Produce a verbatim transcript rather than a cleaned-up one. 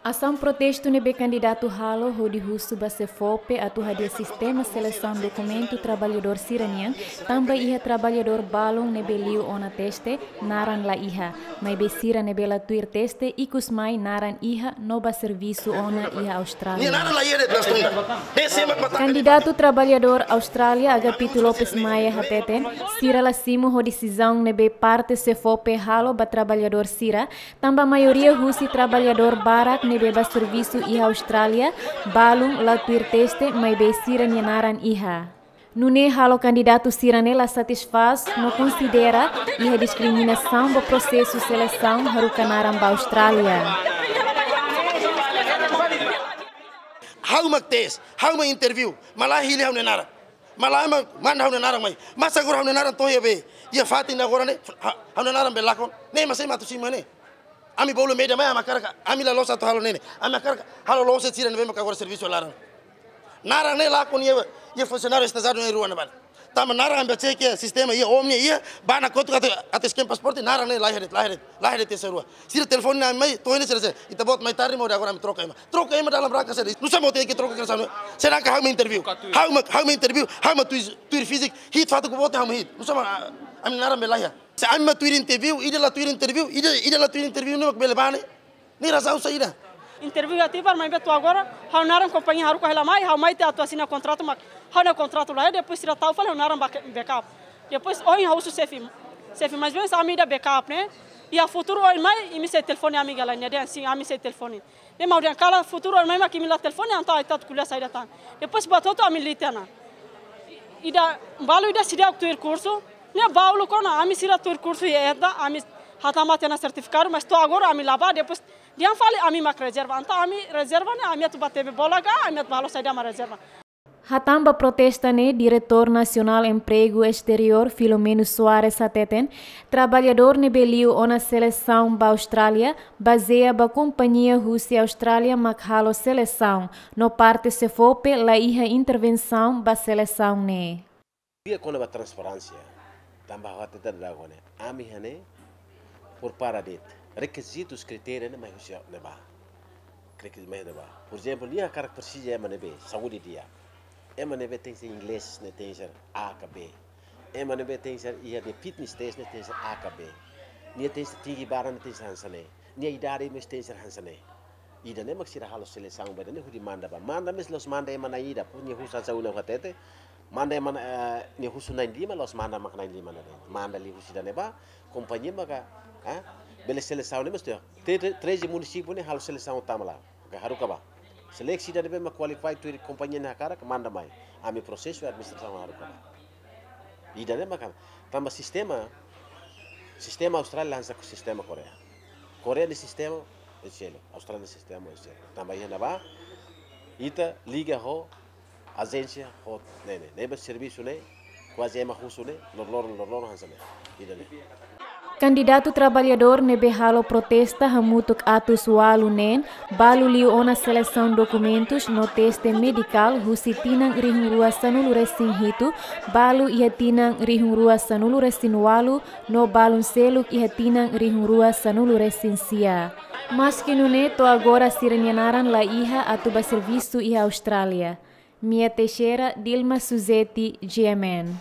Asaun protestu ne'ebé kandidatu halo hodi husu ba SEFOPE atu hadi'a sistema selesaun dokumentu traballadór sira-nian, tanba iha traballadór balun ne'ebé liu ona teste, naran la iha, maibé sira ne'ebé la tuir teste ikus mai naran iha no bá servisu ona iha Austrália. Nia naran la iha de'it na tunda. Ne'e sé mak matan. Kandidatu traballadór Austrália, Agapito Lopes Maia hateten, sira la simu ho desizaun ne'ebé parte SEFOPE halo ba traballadór sira, tanba maioria husi traballadór barak ne'ebé bá servisu iha Austrália, balun la tuir teste, maibé sira-nia naran iha. Nune'e halo kandidatu sira-ne'e la satisfás no konsidera iha diskriminasaun ba prosesu selesaun haruka naran ba Austrália. Ha'u mak tes, ha'u mak interview, malah hili ha'u-nia naran. Malah ema manda ha'u-nia naran mai. Masa agora ha'u-nia naran to'o iha be, iha fatin agora ne'e, ha-, ha'u-nia naran be lakon. Ne'e mak sé mak atu simu ne'e. Ami bolu media mai, ami hakarak, ami la loos atu halo ne'e. Ami hakarak halo loos sira ne'ebé mak agora servisu laran. Naran ne'e lakon iha, iha funsionáriu estajiáriu ne'e rua ne'ebá. Tanba naran ami bá cek iha sistema iha Omni iha, bá ne'e kotuk atu, atu scan pasaporte, naran ne'e la iha de'it, la iha de'it, la iha de'it tes rua. Sira telefone ami mai, to'o ne'e sira dehan, ita-boot mai tarde maibé agora ami troka ema. Troka ema dalam rangka saida? Nusá mak tenke troka ke sana? Sedangkan ha'u mak interview. Ha'u mak, ha'u mak interview, ha'u mak tuir, tuir fisik, hi'it fatuk boot ha'u mak hi'it. Nusá mak, ah, ami naran be la iha. Se ami mak tuir interview, ida la tuir interview, ida, ida la tuir interview ne'e mak bele bá ne'e. Ne'e razaun saida? Interview iha Tibar maibé to'o agora, ha'u naran kompañia haruka hela mai, ha'u mai tiha atu asina kontratu mak, ha'u-nia kontratu la iha, depois sira tau fali ha'u naran bak-, backup. Depois ohin ha'u husu xefe, xefe, maibé se ami ida backup ne'e, iha futuru oin mai, imi sei telefone ami ka lae, nia dehan sin, ami sei telefone. Ne'e mak ha'u dehan karik futuru oin mai mak imi la telefone, entaun ita atu ko'alia saida tan. Depois buat hotu ami leten ona. Ida, balu ida seidauk tuir kursu, ne'e balu kona, ami sira tuir kursu iha ita, ami hatama tiha ona sertifikadu, mas to'o agora ami la bá, depois dehan fali ami mak rezerva, entaun ami rezerva ne'e, ami atu bá tebe bola ka, ami atu bá halo saida mak rezerva. Hatán ba protesta ne'e, Diretór Nasionál Empregu Esteriór, Filomeno Soares hateten, traballadór ne'ebé liu ona selesaun ba Austrália, bazeia ba kompañia husi Austrália mak halo selesaun, no parte SEFOPE la iha intervensaun ba selesaun ne'e. Di'ak kona-ba transparénsia, tanba ha'u hatete dadaun ne'e, ami iha ne'e prepara de'it, rekizitus, kritériu ne'e mai husi ne'ebá. Kritériu mai ne'ebá. Por ezemplu, nia hakarak presiza ema ne'ebé saúde di'ak. Ema ne'ebé tenke ser inglés ne'e tenke ser A ka B. Ema ne'ebé tenke ser iha de fitness test ne'e tenke ser A ka B. Nia tenke ser tinggi badan ne'e tenke ser hanesan ne'e. Nia idade mós tenke ser hanesan ne'e. Ida-ne'e mak sira halo selesaun ba ida-ne'e hodi manda bá. Manda mós la'ós manda ema na'in ida, depois nia husu hanesan ohin ha'u hatete. Manda ema, eh, nia husu na'in-lima, la'ós manda mak na'in-lima ne'e. Manda liuhusi ida-ne'ebá, kompañia maka, eh, bele selesaun ne'e mós tiha. Te, te, treze munisípiu ne'e halo selesaun tama lá. Ka haruka bá. Seleksi ida ne'ebé mak qualify tuir kompañia ne'e hakarak, manda mai. Ami prosesu administrasaun haruka bá. Ida-ne'e maka, tanba sistema, sistema Austrália hanesan sistema Koreia. Koreia nia sistema, é seluk. Austrália nia sistema, é seluk. Tanba iha ne'ebá, ita liga ho ajénsia hotu ne'e, ne'ebé servisu ne'e, kuaze ema husu ne'e, loroloron, loroloron hanesan ne'e. Ida-ne'e. Kandidatu traballadór ne'ebé halo protesta hamutuk atus ualu neen, balu liu ona selesaun dokumentus no teste medikál husi tinan rihun rua sanulu resin hitu, balu iha tinan rihun rua sanulu resin ualu, no balun seluk iha tinan rihun rua sanulu resin sia. Maski nune'e, to'o agora sira-nia naran la iha atu bá servisu iha Austrália. Mia Teixeira, Dilma Suzeti, G M N.